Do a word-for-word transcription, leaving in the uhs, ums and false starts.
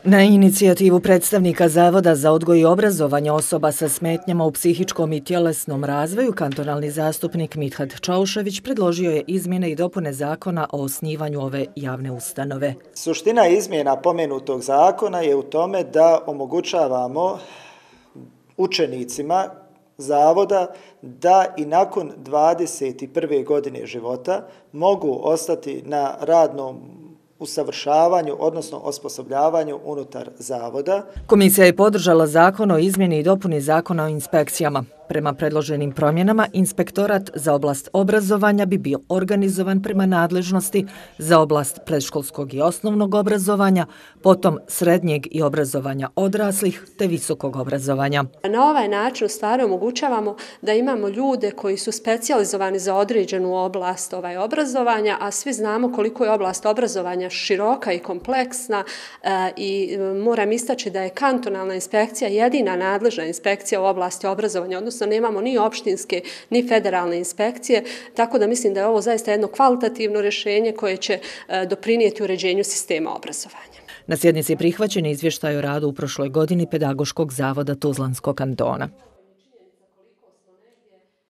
Na inicijativu predstavnika Zavoda za odgoj i obrazovanje osoba sa smetnjama u psihičkom i tjelesnom razvoju, kantonalni zastupnik Mithat Čaušević predložio je izmjene i dopune zakona o osnivanju ove javne ustanove. Suština izmjena pomenutog zakona je u tome da omogućavamo učenicima Zavoda da i nakon dvadeset prve godine života mogu ostati na radnom usavršavanju, odnosno osposobljavanju unutar Zavoda. Komisija je podržala zakon o izmjeni i dopuni zakona o inspekcijama. Prema predloženim promjenama, inspektorat za oblast obrazovanja bi bio organizovan prema nadležnosti za oblast predškolskog i osnovnog obrazovanja, potom srednjeg i obrazovanja odraslih te visokog obrazovanja. Na ovaj način u stvari omogućavamo da imamo ljude koji su specijalizovani za određenu oblast ovaj obrazovanja, a svi znamo koliko je oblast obrazovanja široka i kompleksna e, i moram istaći da je kantonalna inspekcija jedina nadležna inspekcija u oblasti obrazovanja, odnosno nemamo ni opštinske ni federalne inspekcije, tako da mislim da je ovo zaista jedno kvalitativno rješenje koje će e, doprinijeti uređenju sistema obrazovanja. Na sjednici je prihvaćen izvještaj o radu u prošloj godini Pedagoškog zavoda Tuzlanskog kantona.